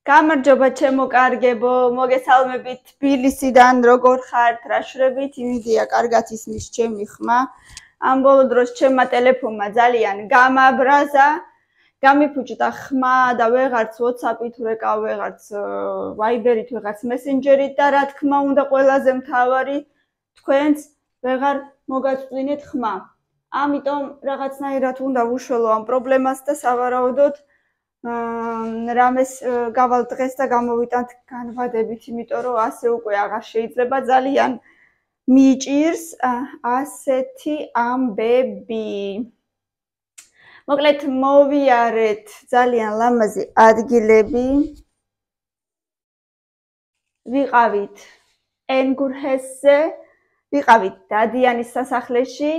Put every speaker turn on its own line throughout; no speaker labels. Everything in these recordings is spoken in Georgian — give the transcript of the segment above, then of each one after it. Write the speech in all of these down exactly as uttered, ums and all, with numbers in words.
გამარჯობა ჩემო კარგებო, მოგესალმებით თბილისიდან, როგორ ხართ, რა შვრებით? იმედია კარგად ისმის ჩემი ხმა. ამ ბოლო დროს ჩემმა ტელეფონმა ძალიან გამაბრაზა, გამიფუჭდა ხმა და ვეღარც WhatsApp-ით ვეკავ, ვეღარც Viber-ით, ვეღარც Messenger-ით და რა თქმა უნდა ყველაზე მთავარი თქვენც ვეღარ მოგაწვინეთ ხმა. ამიტომ რაღაცნაირად უნდა ვუშველო ამ პრობლემას და სავარაუდოდ რამეს გავალ დღეს და გამოვიტანთ განვადებით, იმიტომ რომ ასე უკვე აღარ შეიძლება, ძალიან მიჭირს ასეთი ამბები. მოკლედ მოვიარეთ ძალიან ლამაზი ადგილები. ვიყავით ენგურჰესზე, ვიყავით დადიანის სასახლეში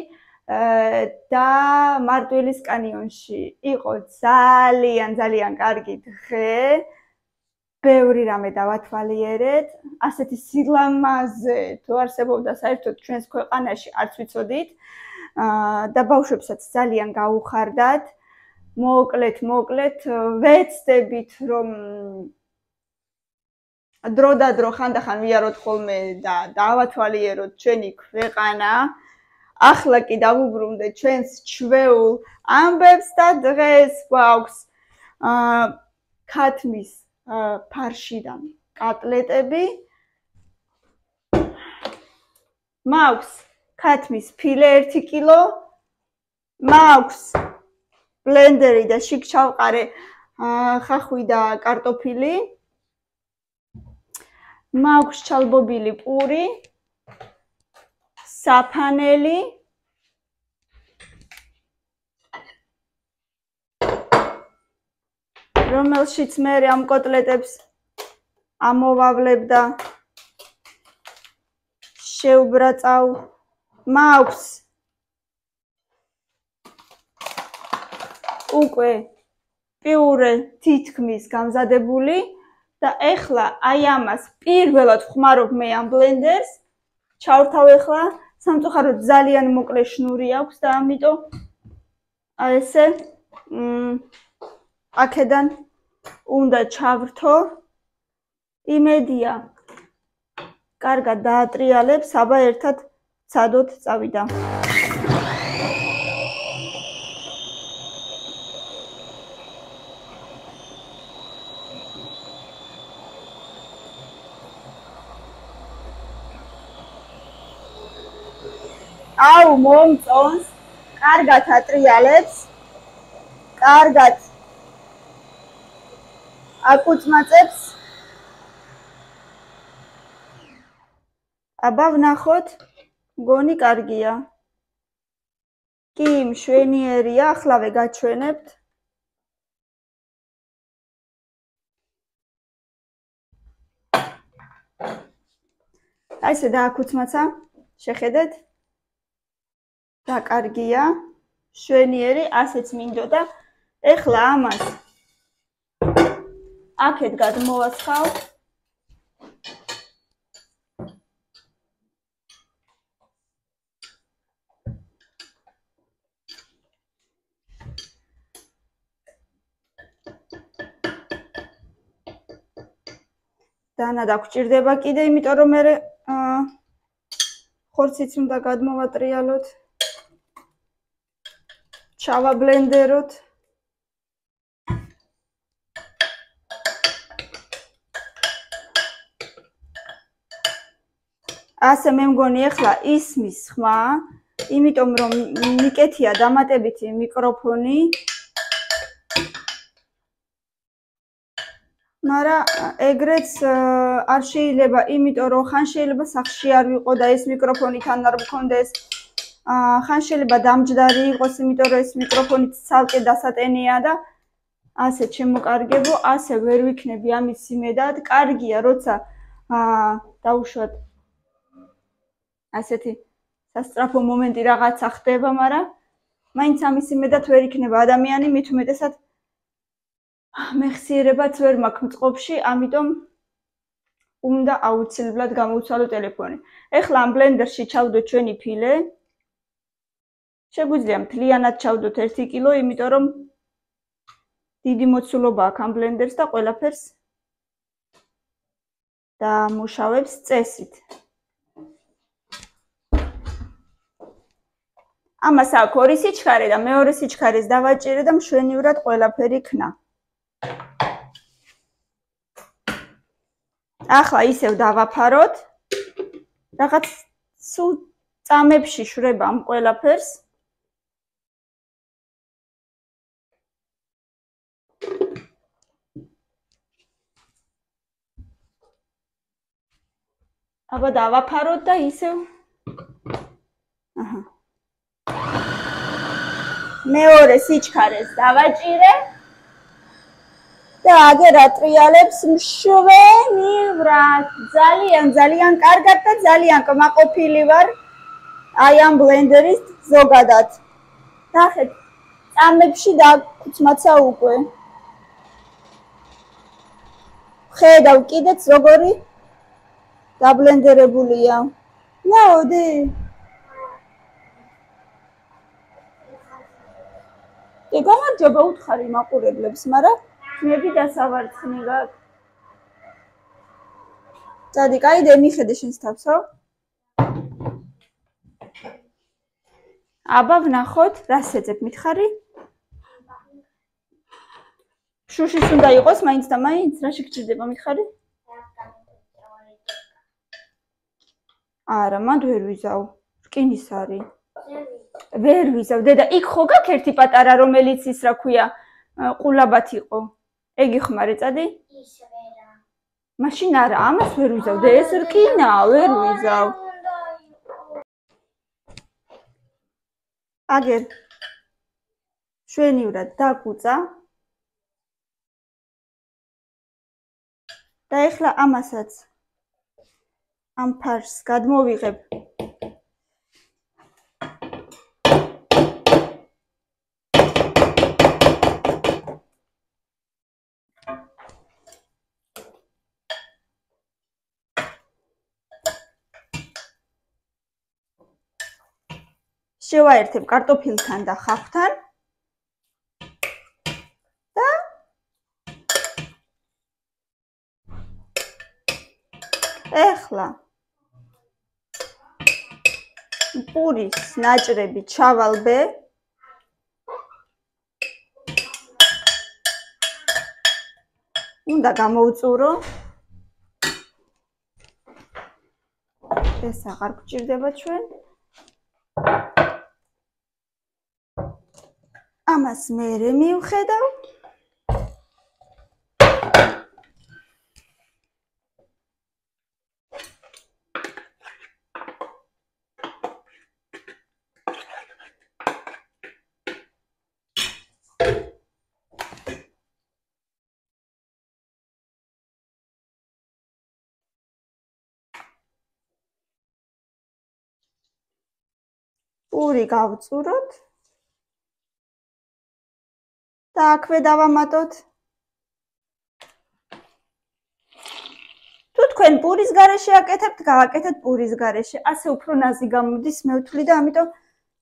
და მარტვილის კანიონში. იყო ძალიან ძალიან კარგი დღე. ბევრი რამე დავათვალიერეთ. ასეთი სილამაზე თუ არსებობდა საერთოდ ჩვენს ქვეყანაში არც ვიცოდით. და ბავშვებსაც ძალიან გაუხარდათ. მოკლედ, მოკლედ ვეცდებით რომ დრო და დრო ხანდახან ვიაროთ ხოლმე და დავათვალიეროთ ჩვენი ქვეყანა. ახლა კი დავუბრუნდეთ ჩვენს ჩვეულ ამბებს და დღეს გვაქვს ქათმის ფარშიდან კატლეტები. მაქვს ქათმის ფილე ერთი კილო, მაქვს ბლენდერი და შიგ ჩავყარე ხახვი და კარტოფილი. მაქვს ჩალბობილი პური, საფანელი, რომელშიც მე ამ კოტლეტებს ამოვავლებ და შევბრაწავ. მაქვს უკვე პიურე თითქმის გამზადებული და ეხლა აი ამას პირველად ვხმარობ მე ამ ბლენდერს. ჩავრთავ ეხლა, სამწუხაროდ ძალიან მოკლე შნური აქვს და ამიტომ აი ესე აქედან უნდა ჩავრთო. იმედია კარგად დაატრიალებს, აბა ერთად ცადოთ წავიდა. აუ მომწონს, კარგად ატრიალებს, კარგად აკუწმაწებს. აბა ვნახოთ, მგონი კარგია. კი, მშვენიერია, ახლავე გაჩვენებთ. აი ესე დააკუწმაცა, შეხედეთ. და კარგია, შვენიერი, ასეც მინდოდა. ეხლა ამას აქეთ გადმოვასხავ. დანა დაგჭირდება კიდე, იმიტომ რომ მე ხორციც უნდა გადმოვატრიალოთ. ჩავაბლენდეროთ. ასე მე მგონი ეხლა ისმის ხმა, იმიტომ რომ მიკეთია დამატებითი მიკროფონი. მაგრამ ეგრეც არ შეიძლება, იმიტომ რომ ხან შეიძლება სახლში არ ვიყო და ეს მიკროფონი თან არ მქონდეს. ხან შეიძლება დამჯდარი იყოს, იმიტომ რომ ეს მიკროფონი ცალკე დასატენია და ასე შემოკარგებო, ასე ვერ ვიქნები ამის იმედად. კარგია, როცა დაუშვათ ასეთი სასწრაფო მომენტი რაღაცა ხდება, მაგრამ მაინც ამის იმედად ვერ იქნება ადამიანი, მით უმეტესად მეხსიერებაც ვერ მაქვს მწყობში, ამიტომ უნდა აუცილებლად გამოვცვალო ტელეფონი. ეხლა ამ ბლენდერში ჩავდოთ ჩვენი ფილე. შეგვიძლია მთლიანად ჩავდოთ ერთი კილო, იმიტომ რომ დიდი მოცულობა აქვს ამ ბლენდერს და ყველაფერს და მუშავებს წესით. ამას აქვს ორი სიჩქარე და მეორე სიჩქარეს დავაჭირე და მშვენივრად ყველაფერი ქნა. ახლა ისევ დავაფაროთ. რაღაც სულ წამებში შვრება ამ ყველაფერს. აბა დავაფაროთ და ისევ აჰა მეორე სიჩქარეს დავაჭირე და აგერ ატრიალებს მშვენივრად. ძალიან ძალიან კარგად და ძალიან კმაყოფილი ვარ აი ამ ბლენდერის ზოგადად. ნახეთ, წამებში დაგუცმაცა უკვე. ხედავ კიდეც როგორი დაბლენდერებულია. ნაოდი. და გამარჯობა უთხარი მაყურებლებს, მაგრამ მეები დასავარცხნი გაქვს. წადი, კაი, მიხედე შენს თავსო. აბა ვნახოთ, რას ეძებ მითხარი? შუშის უნდა იყოს მაინც და მაინც, რა შეგჭირდება მითხარი? არა, მანდ ვერ ვიზავ. რკინის არის. ვერ ვიზავ, დედა, იქ ხო გაქვს ერთი პატარა, რომელიც ის რა ქვია, ყულაბათ იყო. ეგ იხმარე, წადი? ის ვერა. მაშინ არა, ამას ვერ ვიზავ, და ეს რკინა, ვერ ვიზავ. აგერ შვენივრად დაგუწა. და ეხლა ამასაც ამ ფარს გადმოვიღებ. შევაერთებ კარტოფილთან და ხავთან და ეხლა პურის ნაჭრები ჩავალბე. უნდა გამოვწურო. ეს აღარ გჭირდება ჩვენ. ამას მერე მივხედავ. პური გავწუროთ. და აქვე დავამატოთ. თუ თქვენ პურის გარეშე აკეთებთ, გააკეთეთ პურის გარეშე. ასე უფრო ნაზი გამოდის, მე ვთვლი და ამიტომ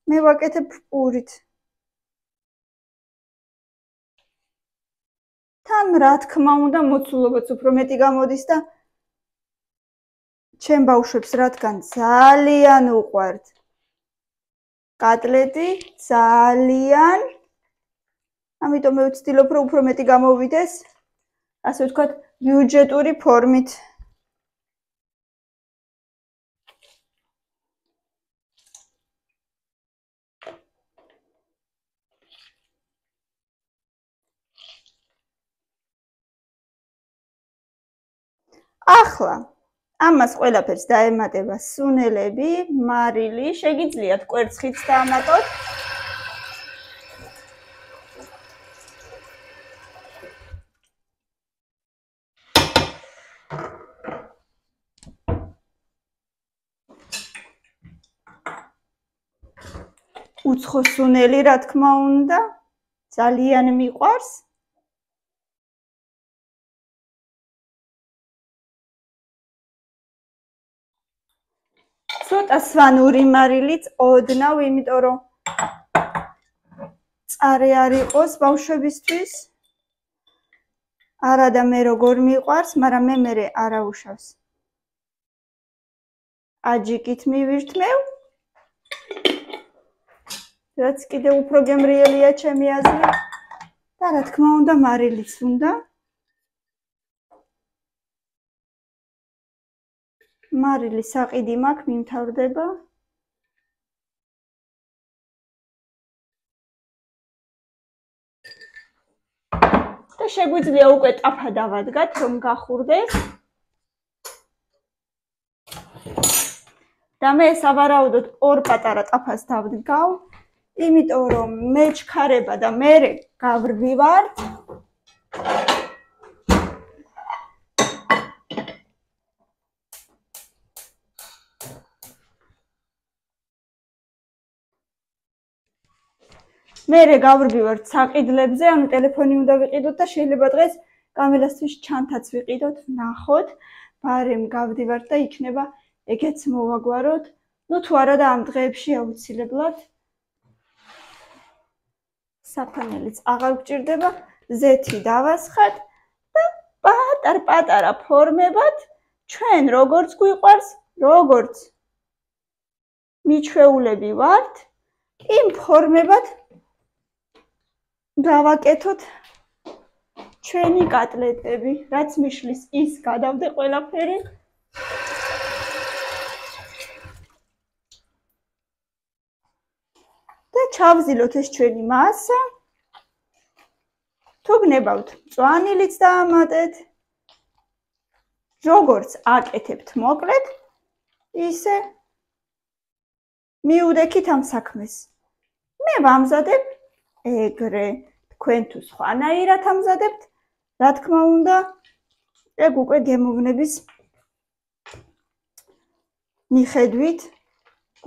მე ვაკეთებ პურით. თან რა თქმა უნდა, მოცულობაც უფრო მეტი გამოდის და ჩემ ბავშვებს რადგან ძალიან უყვართ კატლეტი, ძალიან ამიტომ მე ვცდილობ რომ უფრო მეტი გამოვიდეს, ასე ვთქვათ, ბიუჯეტური ფორმით. ახლა ამას ყველაფერს დაემატება სუნელები, მარილი, შეგიძლიათ კვერცხიც დაამატოთ. უცხო სუნელი, რა თქმა უნდა, ძალიან მიყვარს. ცოტა სვანური მარილიც ოდნავ, იმიტომ რომ წარე არ იყოს ბავშვებისთვის. არა და მე როგორ მიყვარს, მაგრამ მე მერე არა უშავს. აჯიკით მივირთმევ. რაც კიდევ უფრო გემრიელია ჩემი აზრით. და რა თქმა უნდა, მარილიც უნდა. მარილი საყიდი მაქვს, მიმთავრდება. და შეგვიძლია უკვე ტაფა დავადგათ, რომ გახურდეს. და მე სავარაუდოდ ორ პატარა ტაფას დავდგავ, იმიტომ რომ მე ჩქარება და მე გავრბივარ. მერე გავრბივართ საყიდლებზე, ანუ ტელეფონი უნდა ვიყიდოთ და შეიძლება დღეს კამერასთვის ჩანთაც ვიყიდოთ, ნახოთ, ბარემ გავდივართ და იქნება ეგეც მოვაგვაროთ. ნუ თუ არა და ამ დღეებში აუცილებლად საფანელიც აღარ გვჭირდება, ზეთი დავასხათ და პატარ-პატარა ფორმებად ჩვენ როგორც გვიყვარს, როგორც მიჩვეულები ვართ, იმ ფორმებად გავაკეთოთ ჩვენი კატლეტები, რაც მიშლის ის გადავდე ყველაფერი. და ჩავზილოთ ეს ჩვენი მასა. თუ გნებავთ, მწვანილიც დაამატეთ. როგორც აკეთებთ მოკლედ, ისე მიუდექით ამ საქმეს. მე ვამზადებ ეგრე, თქვენ თუ სხვანაირად ამზადებთ, რა თქმა უნდა, ეგ უკვე გემოვნების მიხედვით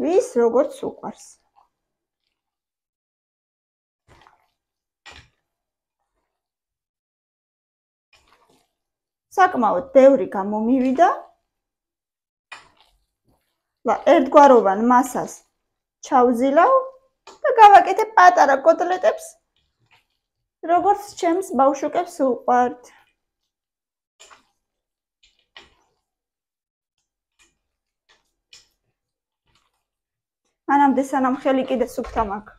ვის როგორც უყვარს. საკმაოდ ბევრი გამომივიდა. ლა ერთგვაროვან მასას ჩავზილავ და გავაკეთებ პატარა კოტლეტებს, როგორც ჩემს ბავშვებს უყვართ. მანამდე სანამ ხელი კიდე სუფთა მაქვს.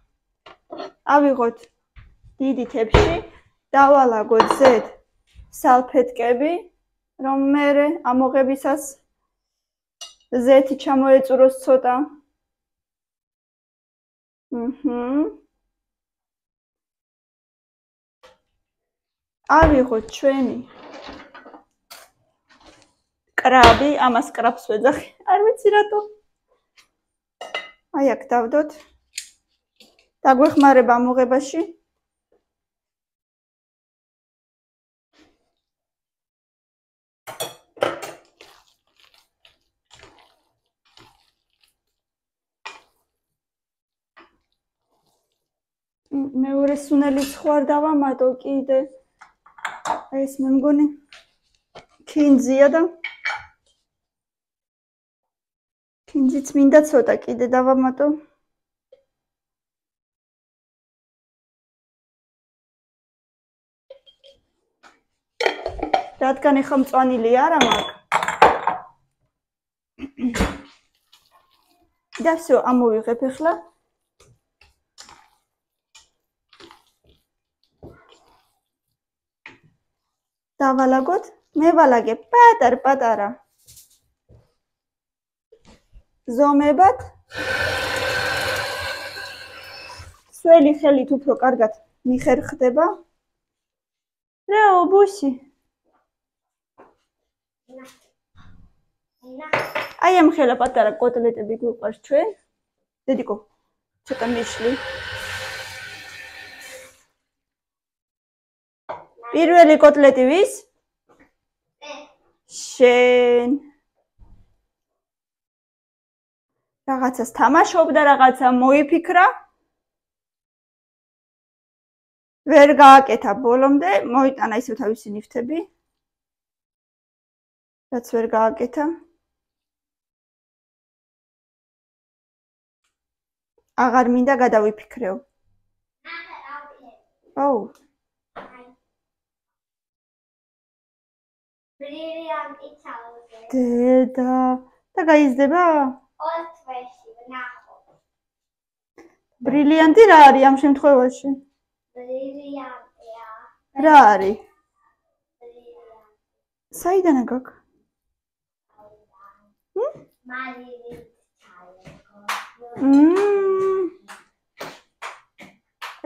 ავიღოთ დიდი თეფში, დავალაგოთ ზედ სალფეტკები, რომ მერე ამოღებისას ზეთი ჩამოეწუროს ცოტა. ჰმმ. ავიღოთ ჩვენი კრაბი, ამას კრაბს ვეძახი, არ ვიცი რატო. აი აქ დავდოთ. დაგვეხმარება ამოღებაში. მეორე სუნელიც ხوار დავამატო კიდე. ეს მე მგონი კინძია და კინძიც მინდა ცოტა კიდე დავამატო. რადგან ეხა მწვანილი არა მაქვს. და всё, ამოვიღებ ახლა. დავალაგოთ, მე ვალაგებ პატარ-პატარა ზომებად. სველი ხელით უფრო კარგად მიხერხდება. რეო, ბუსი. აი ამ ხელა პატარა კოტლეტები გვიყვარს ჩვენ. დედიკო, ცოტა მიშლი. პირველი კოტლეტი ვის? შენ. რაღაცას თამაშობდა, რაღაცა მოიფიქრა. ვერ გააკეთა ბოლომდე, მოიტანა ისევ თავისი ნიფთები. რაც ვერ გააკეთა. აღარ მინდა გადავიფიქრეო. აუ. დედა და და გაიზრდება?
ორ თვეში ვნახოთ.
ბრილიანტი რა არის ამ შემთხვევაში?
ბრილიანტია.
რა არის? საიდანაა გაკ?
მარილი ჩაიგო.
მმ.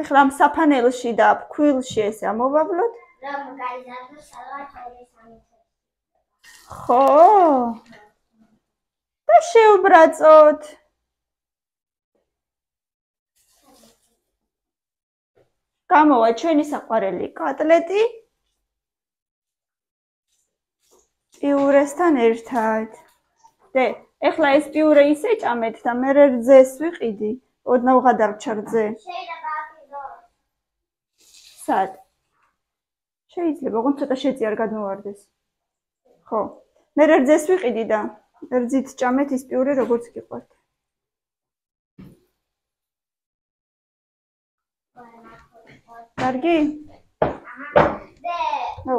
ეხლა ამ საფანელში და ფქვილში ესე ამოვავლოთ?
რომ გაიზარდოს სადღაც ორი სამი თვე.
ხო. და შევბრაწოთ. გამოვა ჩვენი საყვარელი კოტლეტი პიურესთან ერთად. დე, ეხლა ეს პიურე ისე ჭამეთ და მე რძეს ვიყიდი, ოდნავ გადარჩა რძე.
შეიძლება აკიდოს.
სად? შეიძლება, ოღონდ ცოტა შეძი არ გადმოვარდეს. ხო. მე რძეს ვიყიდი და რძით ჭამეთ ის პიურე როგორც გიყვართ. კარგი?
დე.
ნუ.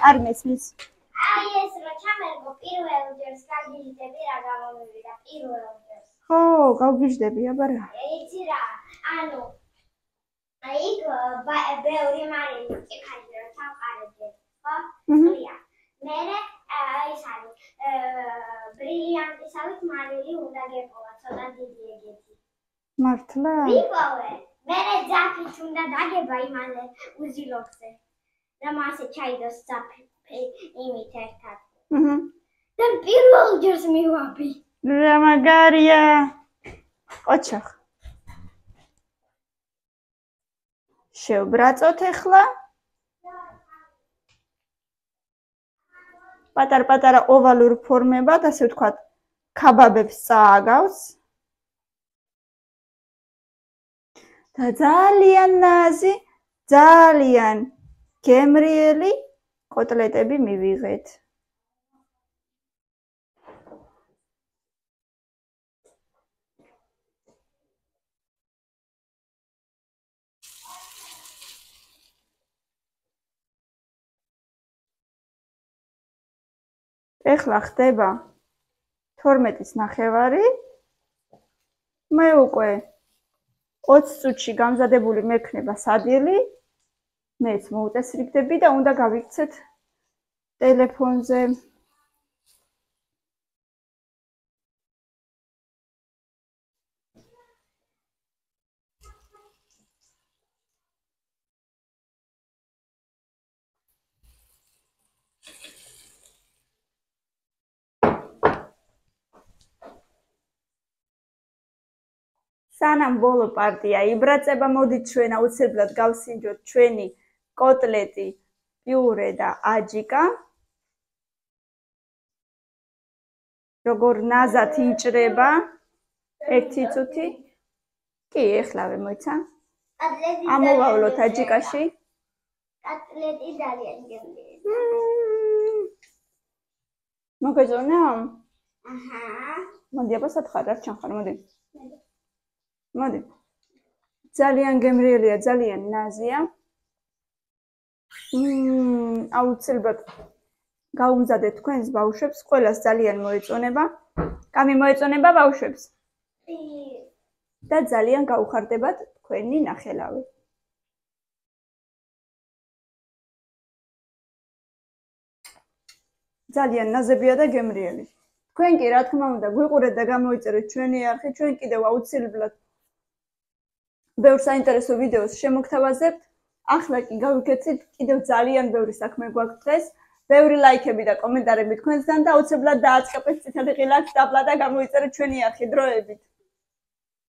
არ მესმის.
აი ეს რო ჩამერგო პირველ ჯერს გაგიჟდები რა გამომივიდა პირველ ჯერს.
ხო, გავგიჟდები, აბა რა.
იცი რა, ანუ აი ბევრი მარილი ჭიქადი რო ჩამყარებდი, ხო? ხლია. მერე ის არის ბრილიანტისავით მარილი უნდა გეპოვა, ცოტა დიდი ეგეთი.
მართლა?
ვიპოვე. მერე ძაფით უნდა დაგება იმაზე უზილოხზე. და მასე ჩაიდოს ძაფი იმით ერთად.
აჰა.
და პირველ ჯერს მივაბი.
რა მაგარია. ოჩახ. შევბრაწოთ ახლა. პატარ-პატარა ოვალურ ფორმებად, ასე ვთქვათ, ქაბაბებს წააგავს. და ძალიან ნაზი, ძალიან გემრიელი კოტლეტები მივიღეთ. ეხლა ხდება თორმეტის ნახევარი. მე უკვე ოცი წუთში გამზადებული მექნება სადილი. მეც მოუწესრიგდები და უნდა გავიქცეთ ტელეფონზე. სანამ ბოლო პარტია იბრაწება, მოდით ჩვენ აუცილებლად გავსინჯოთ ჩვენი კოტლეტი, პიურე და აჯიკა. როგორ ნაზად იჭრება ერთი წუთი. კი, ეხლავე მოიცა. ამოვავლოთ აჯიკაში.
კოტლეტი ძალიან გემრიელი.
მოგეწონა?
აჰა.
მოდი აბა სათხარ არ ჩანხარ, მოდი. მოდი. ძალიან გემრიელია, ძალიან ნაზია. მმ, აუცილებლად გაუმზადეთ თქვენს ბავშვებს, ყველას ძალიან მოეწონება. კამი მოეწონება ბავშვებს?
კი.
და ძალიან გაუხარდებათ თქვენი ნახელავი. ძალიან ნაზებია და გემრიელი. თქვენ კი რა თქმა უნდა გვიყურეთ და გამოიწერეთ ჩვენი არხი, ჩვენ კიდევ აუცილებლად ბევრ საინტერესო ვიდეოს შემოგთავაზებთ. ახლა კი გავიქეცით, კიდევ ძალიან ბევრი საქმე გვაქვს დღეს. ბევრი ლაიქები და კომენტარები თქვენსგან და აუცილებლად დააწყებეთ წითელი ღილაკს, დაბლა და გამოიწერეთ ჩვენი არხი დროებით.